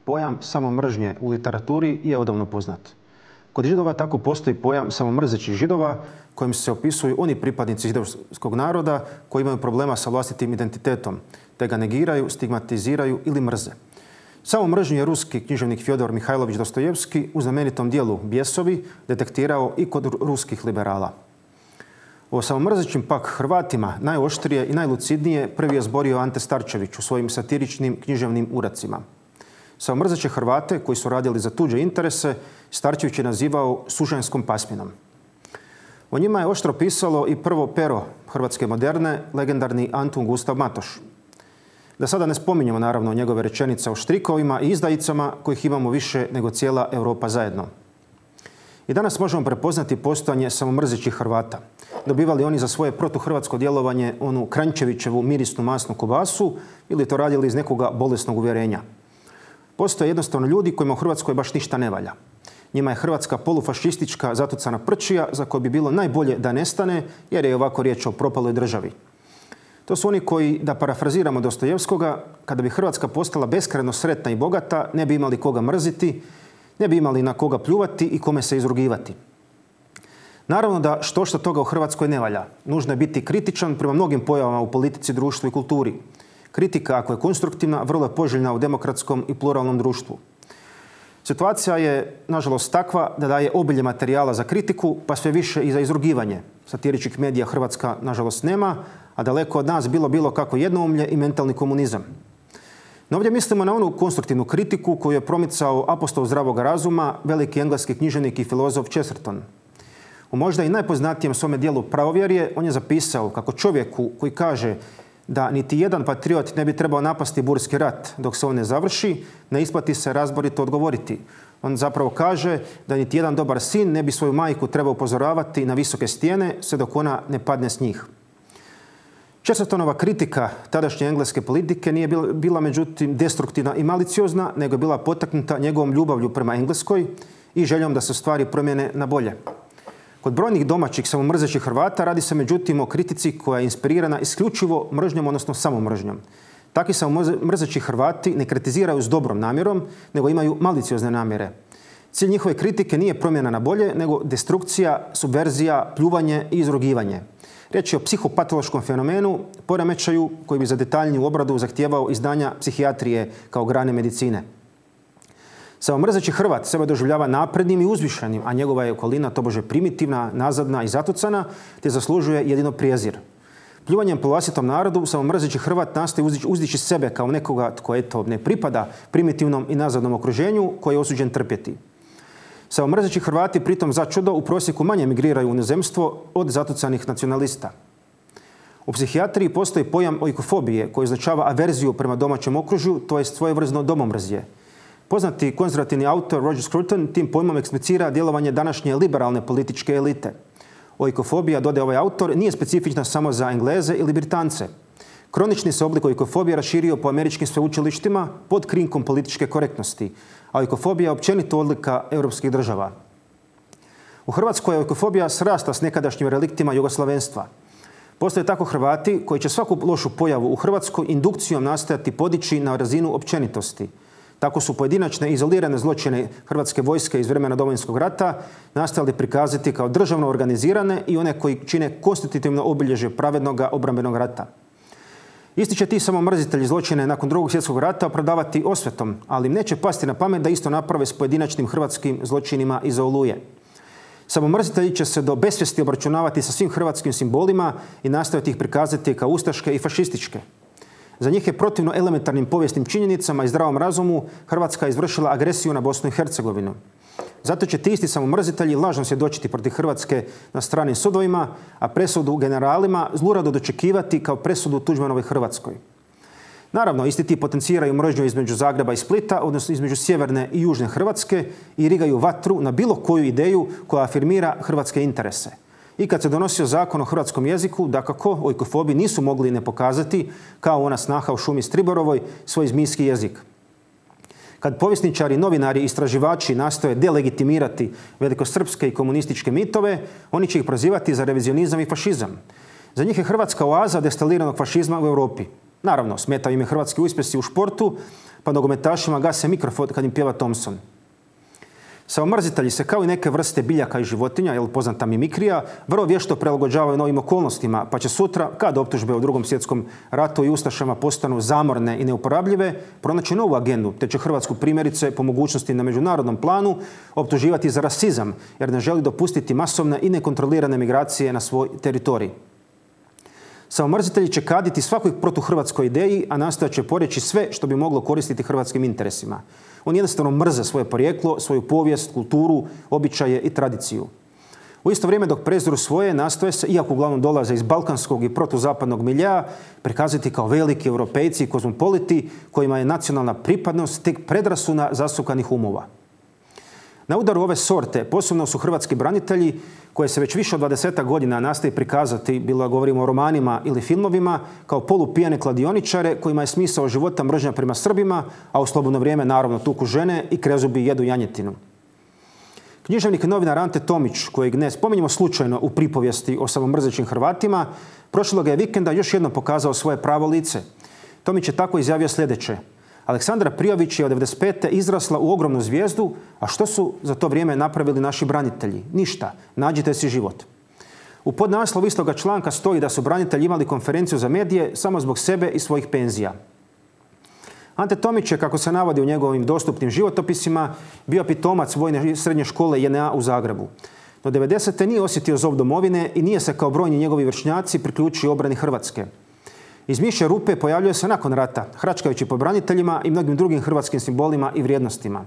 Pojam samomržnje u literaturi je odavno poznat. Kod Židova tako postoji pojam samomrzećih Židova kojim se opisuju oni pripadnici židovskog naroda koji imaju problema sa vlastitim identitetom, te ga negiraju, stigmatiziraju ili mrze. Samomržnju je ruski književnik Fjodor Mihajlović Dostojevski u znamenitom dijelu Bjesovi detektirao i kod ruskih liberala. O samomrzećim pak Hrvatima najoštrije i najlucidnije prvi je zborio Ante Starčević u svojim satiričnim književnim uradcima. Samomrzeće Hrvate koji su radili za tuđe interese Starčević je nazivao sužanjskom pasminom. O njima je oštro pisalo i prvo pero hrvatske moderne, legendarni Antun Gustav Matoš. Da sada ne spominjemo naravno njegove rečenice o štrikovima i izdajicama kojih imamo više nego cijela Europa zajedno. I danas možemo prepoznati postojanje samomrzećih Hrvata. Dobivali oni za svoje protuhrvatsko djelovanje onu Kranjčevićevu mirisnu masnu kobasu ili to radili iz nekoga bolesnog uvjerenja. Postoje jednostavno ljudi kojima u Hrvatskoj baš ništa ne valja. Njima je Hrvatska polufašistička zatucana prčija za koju bi bilo najbolje da nestane jer je ovako riječ o propaloj državi. To su oni koji, da parafraziramo Dostojevskoga, kada bi Hrvatska postala beskrajno sretna i bogata, ne bi imali koga mrziti, ne bi imali na koga pljuvati i kome se izrugivati. Naravno da što toga u Hrvatskoj ne valja. Nužno je biti kritičan prema mnogim pojavama u politici, društvu i kulturi. Kritika, ako je konstruktivna, vrlo je poželjna u demokratskom i pluralnom društvu. Situacija je, nažalost, takva da daje obilje materijala za kritiku, pa sve više i za izrugivanje. Satiričkih medija Hrvatska, nažalost, nema, a daleko od nas bilo kako jednoumlje i mentalni komunizam. No ovdje mislimo na onu konstruktivnu kritiku koju je promicao apostol zdravog razuma, veliki engleski književnik i filozof Chesterton. U možda i najpoznatijem svome dijelu Pravovjerje on je zapisao kako čovjeku koji kaže da niti jedan patriot ne bi trebao napasti Burski rat dok se on ne završi, ne isplati se razborito odgovoriti. On zapravo kaže da niti jedan dobar sin ne bi svoju majku trebao upozoravati na visoke stijene sve dok ona ne padne s njih. Chestertonova kritika tadašnje engleske politike nije bila međutim destruktivna i maliciozna, nego je bila potaknuta njegovom ljubavlju prema Engleskoj i željom da se stvari promijene na bolje. Kod brojnih domaćih samomrzećih Hrvata radi se međutim o kritici koja je inspirirana isključivo mržnjom, odnosno samomržnjom. Takvi samomrzeći Hrvati ne kritiziraju s dobrom namjerom, nego imaju maliciozne namjere. Cilj njihove kritike nije promjena na bolje, nego destrukcija, subverzija, pljuvanje i izrugivanje. Riječ je o psihopatološkom fenomenu, poremećaju koji bi za detaljniju obradu zahtijevao izdanja psihijatrije kao grane medicine. Samomrzeći Hrvat sebe doživljava naprednim i uzvišenim, a njegova je okolina tobože primitivna, nazadna i zatucana, te zaslužuje jedino prijezir. Pljuvanjem po vlastitom narodu samomrzeći Hrvat nastoji uzdići sebe kao nekoga tko ne pripada primitivnom i nazadnom okruženju koji je osuđen trpjeti. Samomrzeći Hrvati pritom za čudo u prosjeku manje migriraju u inozemstvo od zatucanih nacionalista. U psihijatriji postoji pojam oikofobije koji označava averziju prema domaćem okružju, to je svojevrsno domomrzje. Poznati konzervativni autor Roger Scruton tim pojmom eksplicira djelovanje današnje liberalne političke elite. Oikofobija, dodaje ovaj autor, nije specifična samo za Engleze ili Britance. Kronični se oblik oikofobije raširio po američkim sveučilištima pod krinkom političke korektnosti, a oikofobija je općenito odlika europskih država. U Hrvatskoj je oikofobija srasla s nekadašnjim reliktima jugoslavenstva. Postoje tako Hrvati koji će svaku lošu pojavu u Hrvatskoj indukcijom nastojati podići na razinu općenitosti. Tako su pojedinačne izolirane zločine Hrvatske vojske iz vremena Domovinskog rata nastojali prikazati kao državno organizirane i one koji čine konstitutivno obilježje pravednog obrambenog rata. Isti će ti samomrzitelji zločine nakon Drugog svjetskog rata opravdavati osvetom, ali im neće pasti na pamet da isto naprave s pojedinačnim hrvatskim zločinima iza Oluje. Samomrzitelji će se do besvijesti obračunavati sa svim hrvatskim simbolima i nastojati ih prikazati kao ustaške i fašističke. Za njih je protivno elementarnim povijesnim činjenicama i zdravom razumu Hrvatska izvršila agresiju na Bosnu i Hercegovinu. Zato će ti isti samomrzitelji lažno svjedočiti protiv Hrvatske na stranim sudovima, a presudu generalima zlurado dočekivati kao presudu Tuđmanovoj Hrvatskoj. Naravno, isti ti potenciraju mržnju između Zagreba i Splita, odnosno između sjeverne i južne Hrvatske i rigaju vatru na bilo koju ideju koja afirmira hrvatske interese. I kad se donosio zakon o hrvatskom jeziku, dakako, oikofobi nisu mogli ne pokazati, kao ona snaha u šumi Striborovoj, svoj zmijski jezik. Kad povjesničari, novinari i istraživači nastoje delegitimirati velikosrpske i komunističke mitove, oni će ih prozivati za revizionizam i fašizam. Za njih je Hrvatska oaza destiliranog fašizma u Europi. Naravno, smetaju im hrvatski uspjesi u športu, pa nogometašima gase mikrofon kad im pjeva Thompson. Samomrzitelji se kao i neke vrste biljaka i životinja, poznata mimikrija, vrlo vješto prilagođavaju novim okolnostima, pa će sutra, kad optužbe u Drugom svjetskom ratu i ustašama postanu zamorne i neuporabljive, pronaći novu agendu, te će Hrvatsku primjerice po mogućnosti na međunarodnom planu optuživati za rasizam, jer ne želi dopustiti masovne i nekontrolirane migracije na svoj teritorij. Samomrzitelji će kaditi svakoj protuhrvatskoj ideji, a nastojat će poreći sve što bi moglo koristiti hrvatskim interesima. Oni jednostavno mrze svoje porijeklo, svoju povijest, kulturu, običaje i tradiciju. U isto vrijeme dok preziru svoje, nastoje se, iako uglavnom dolaze iz balkanskog i protuzapadnog miljea, prikazati kao veliki europejci i kozmopoliti kojima je nacionalna pripadnost tek predrasuna zasukanih umova. Na udaru ove sorte posebno su hrvatski branitelji koje se već više od 20 godina nastoji prikazati, bilo da govorimo o romanima ili filmovima, kao polupijane kladioničare kojima je smisao života mržnja prema Srbima, a u slobodno vrijeme naravno tuku žene i krezubi jedu janjetinu. Književnik i novinar Ante Tomić, kojeg ne spominjemo slučajno u pripovijesti o samomrzećim Hrvatima, prošloga je vikenda još jednom pokazao svoje pravo lice. Tomić je tako izjavio sljedeće: Aleksandra Prijović je od 1995. izrasla u ogromnu zvijezdu, a što su za to vrijeme napravili naši branitelji? Ništa. Nađite si život. U podnaslovu istoga članka stoji da su branitelji imali konferenciju za medije samo zbog sebe i svojih penzija. Ante Tomić je, kako se navodi u njegovim dostupnim životopisima, bio pitomac vojne srednje škole JNA u Zagrebu. Do 90. nije osjetio zov domovine i nije se kao brojni njegovi vršnjaci priključio obrani Hrvatske. Iz mišje rupe pojavljuje se nakon rata, hračkajući po braniteljima i mnogim drugim hrvatskim simbolima i vrijednostima.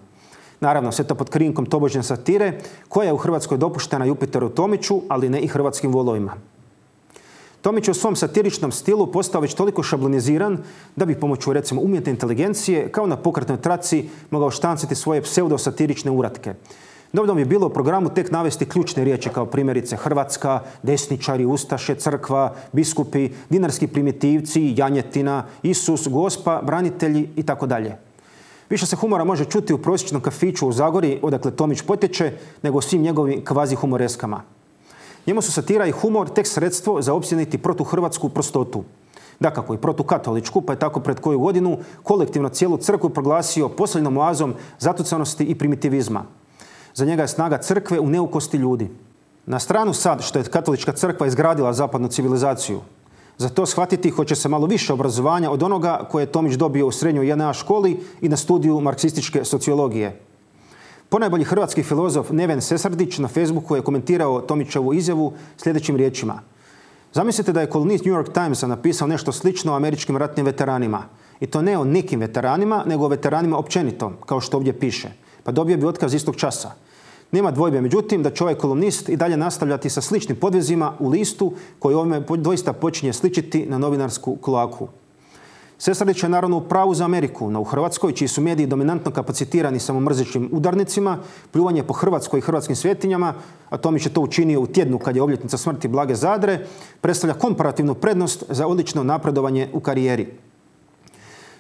Naravno, sve to pod krinkom tobožnje satire, koja je u Hrvatskoj dopuštena Jupiteru Tomiću, ali ne i hrvatskim volovima. Tomić je u svom satiričnom stilu postao već toliko šabloniziran da bi pomoću, recimo, umjetne inteligencije, kao na pokretnoj traci, mogao štanciti svoje pseudosatirične uratke. Dovoljno bi bilo u programu tek navesti ključne riječi kao primjerice Hrvatska, desničari, ustaše, crkva, biskupi, dinarski primitivci, janjetina, Isus, Gospa, branitelji itd. Više se humora može čuti u prosječnom kafiću u Zagori, odakle Tomić potječe, nego u svim njegovim kvazi humoreskama. Njemu su satira i humor tek sredstvo za opsjeniti protuhrvatsku prostotu. Dakako i protukatoličku, pa je tako pred koju godinu kolektivno cijelu crkvu proglasio posljednom oazom zatucanosti i primitivizma. Za njega je snaga crkve u neukosti ljudi. Na stranu sad što je katolička crkva izgradila zapadnu civilizaciju. Za to shvatiti hoće se malo više obrazovanja od onoga koje je Tomić dobio u srednjoj JNA školi i na studiju marksističke sociologije. Ponajbolji hrvatski filozof Neven Sesardić na Facebooku je komentirao Tomićevu izjavu sljedećim riječima. Zamislite da je kolumnist New York Timesa napisao nešto slično o američkim ratnim veteranima. I to ne o nekim veteranima, nego o veteranima općenito, kao što ovdje piše. Pa dobio bi otkaz istog časa. Nema dvojbe, međutim, da će ovaj kolumnist i dalje nastavljati sa sličnim podvezima u listu koji ovime doista počinje sličiti na novinarsku kloaku. Sesardić je naravno u pravu za Ameriku, no u Hrvatskoj, čiji su mediji dominantno kapacitirani samomrzećim udarnicima, pljuvanje po Hrvatskoj i hrvatskim svetinjama, a Tomić je to učinio u tjednu kad je obljetnica smrti Blage Zadre, predstavlja komparativnu prednost za odlično napredovanje u karijeri.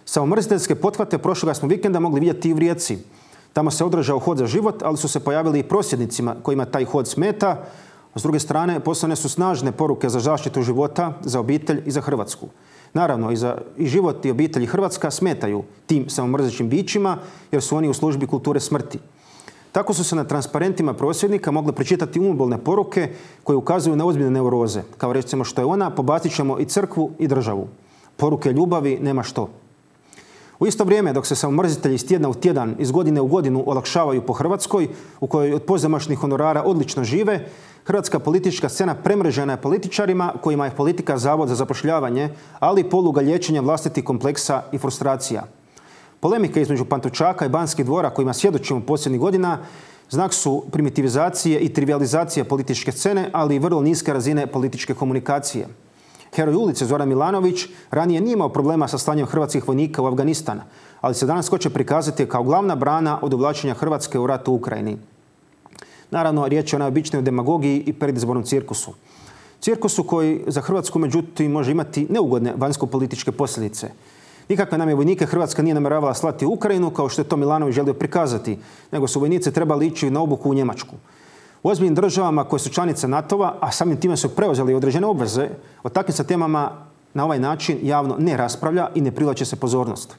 Samomrziteljske pothvate prošloga smo vikenda mogli vidjeti i u Rijeci. Tamo se održao hod za život, ali su se pojavili i prosvjednicima kojima taj hod smeta. S druge strane, poslane su snažne poruke za zaštitu života, za obitelj i za Hrvatsku. Naravno, i život i obitelj i Hrvatska smetaju tim samomrzećim bićima jer su oni u službi kulture smrti. Tako su se na transparentima prosvjednika mogle pročitati umobolne poruke koje ukazuju na ozbiljne neuroze. Kao recimo što je ona, pobacit ćemo i crkvu i državu. Poruke ljubavi nema što. U isto vrijeme, dok se samomrzitelji iz tjedna u tjedan, iz godine u godinu olakšavaju po Hrvatskoj, u kojoj od pozamašnih honorara odlično žive, hrvatska politička scena premrežena je političarima kojima je politika zavod za zapošljavanje, ali i poluga liječenja vlastitih kompleksa i frustracija. Polemike između Pantovčaka i Banskih dvora kojima svjedočimo posljednjih godina znak su primitivizacije i trivializacije političke scene, ali i vrlo niske razine političke komunikacije. Heroj ulice Zoran Milanović ranije nije imao problema sa slanjem hrvatskih vojnika u Afganistan, ali se danas hoće prikazati kao glavna brana od uvlačenja Hrvatske u rat u Ukrajini. Naravno, riječ je o najobičnijoj demagogiji i predizbornom cirkusu. Cirkusu koji za Hrvatsku, međutim, može imati neugodne vanjsko-političke posljedice. Nikakve nam je vojnike Hrvatska nije namjeravala slati u Ukrajinu, kao što je to Milanović želio prikazati, nego su vojnici trebali ići na obuku u Njemačku. U ozbiljnim državama koje su članice NATO-a, a samim time su preuzeli određene obveze, o takvim se temama na ovaj način javno ne raspravlja i ne privlači se pozornost.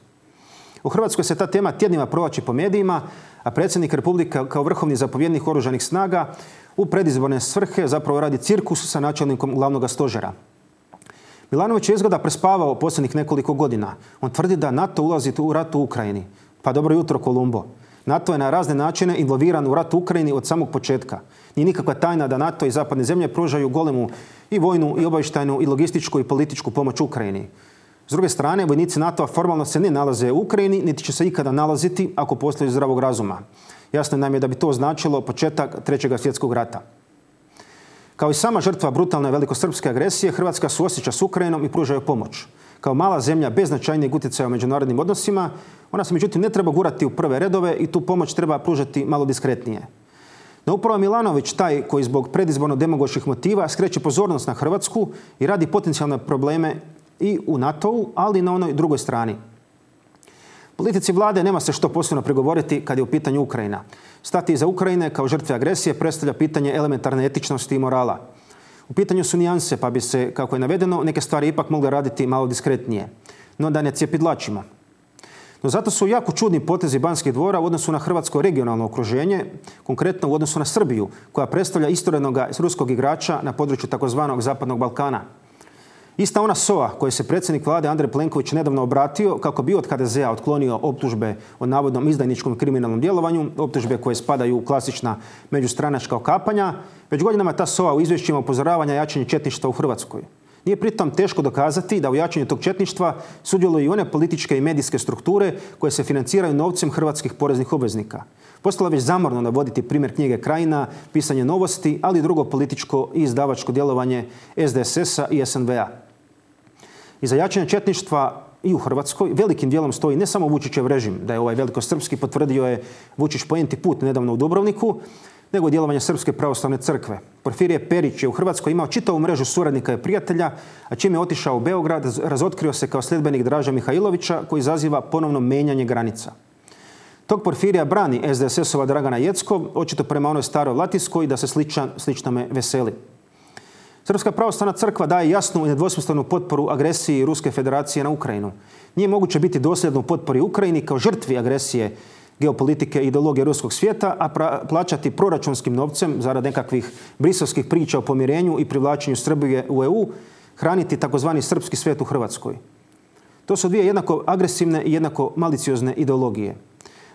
U Hrvatskoj se ta tema tjednima provlači po medijima, a predsjednik Republike kao vrhovni zapovjednik oružanih snaga u predizborne svrhe zapravo radi cirkus sa načelnikom glavnog stožera. Milanović je izgleda prespavao posljednjih nekoliko godina. On tvrdi da NATO ulazi u rat u Ukrajini. Pa dobro jutro, Kolumbo. NATO je na razne načine involviran u rat u Ukrajini od samog početka. Nije nikakva tajna da NATO i zapadne zemlje pružaju golemu i vojnu i obavještajnu i logističku i političku pomoć Ukrajini. S druge strane, vojnici NATO-a formalno se ne nalaze u Ukrajini, niti će se ikada nalaziti ako postoji zdravog razuma. Jasno nam je da bi to značilo početak Trećeg svjetskog rata. Kao i sama žrtva brutalne velikosrpske agresije, Hrvatska suosjeća s Ukrajinom i pruža joj pomoć. Kao mala zemlja bez značajnijeg utjecaja u međunarodnim odnosima, ona se međutim ne treba gurati u prve redove i tu pomoć treba pružati malo diskretnije. No upravo Milanović taj koji zbog predizborno demagoških motiva skreće pozornost na Hrvatsku i radi potencijalne probleme i u NATO-u, ali i na onoj drugoj strani. Politici vlade nema se što posebno pregovoriti kad je u pitanju Ukrajina. Stati iza Ukrajine kao žrtve agresije predstavlja pitanje elementarne etičnosti i morala. U pitanju su nijanse, pa bi se, kako je navedeno, neke stvari ipak mogle raditi malo diskretnije. No da ne cjepidlačimo. No zato su jako čudni potezi Banskih dvora u odnosu na hrvatsko regionalno okruženje, konkretno u odnosu na Srbiju, koja predstavlja istorednog ruskog igrača na području takozvanog Zapadnog Balkana. Ista ona SOA kojoj se predsjednik vlade Andrej Plenković nedavno obratio kako bi od HDZ-a otklonio optužbe o navodnom izdajničkom kriminalnom djelovanju, optužbe koje spadaju u klasična međustranačka okapanja, već godinama ta SOA u izvješćima upozorava na jačanje četništva u Hrvatskoj. Nije pritom teško dokazati da u jačanju tog četništva sudjeluju i one političke i medijske strukture koje se financiraju novcem hrvatskih poreznih obveznika. Postalo je već zamorno navoditi primjer knjige Krajina, pisanje Novosti, ali i drugo političko i izdavačko djelovanje SDSS-a i SNV-a. Iza jačanja četništva i u Hrvatskoj velikim dijelom stoji ne samo Vučićev režim, da je ovaj velikosrpski potvrdio je Vučić po enti put nedavno u Dubrovniku, nego djelovanje Srpske pravoslavne crkve. Porfirije Perić je u Hrvatskoj imao čitavu mrežu suradnika i prijatelja, a čim je otišao u Beograd, razotkrio se kao sljedbenik Draža Mihajlovića koji izaziva ponovno menjanje granica. Tog Porfirija brani SDSS-ova Dragana Jeckov, očito prema onoj staroj latinskoj da se sličnome veseli. Srpska pravoslavna crkva daje jasnu i nedvosmislenu potporu agresiji Ruske federacije na Ukrajinu. Nije moguće biti dosljedno u potpori Ukrajini kao žrtvi agresije geopolitike i ideologije ruskog svijeta, a plaćati proračunskim novcem zarad nekakvih briselskih priča o pomirenju i privlačenju Srbije u EU, hraniti takozvani srpski svijet u Hrvatskoj. To su dvije jednako agresivne i jednako maliciozne ideologije.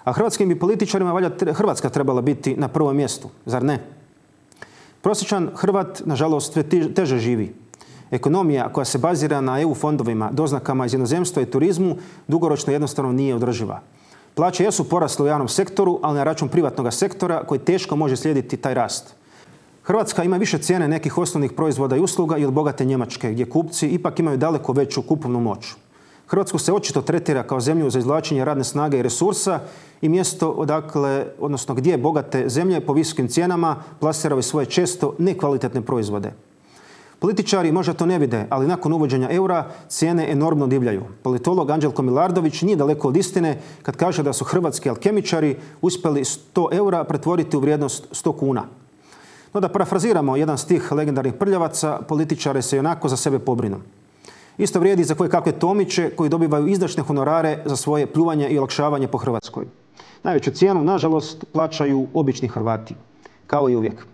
A hrvatskim bi političarima valjda Hrvatska trebala biti na prvom mjestu, zar ne? Prosječan Hrvat, nažalost, sve teže živi. Ekonomija koja se bazira na EU fondovima, doznakama iz inozemstva i turizmu dugoročno jednostavno nije održiva. Plaće jesu porasle u javnom sektoru, ali na račun privatnog sektora koji teško može slijediti taj rast. Hrvatska ima više cijene nekih osnovnih proizvoda i usluga i od bogate Njemačke, gdje kupci ipak imaju daleko veću kupovnu moć. Hrvatsku se očito tretira kao zemlju za izvlačenje radne snage i resursa i mjesto odakle, odnosno gdje bogate zemlje po visokim cijenama plasiraju svoje često nekvalitetne proizvode. Političari možda to ne vide, ali nakon uvođenja eura cijene enormno divljaju. Politolog Anđelko Milardović nije daleko od istine kad kaže da su hrvatski alkemičari uspjeli 100 eura pretvoriti u vrijednost 100 kuna. No da parafraziramo jedan stih legendarnih prljavaca, političare se onako za sebe pobrinu. Isto vrijedi za koje kakve Tomiće koji dobivaju izdašne honorare za svoje pljuvanje i olakšavanje po Hrvatskoj. Najveću cijenu, nažalost, plaćaju obični Hrvati, kao i uvijek.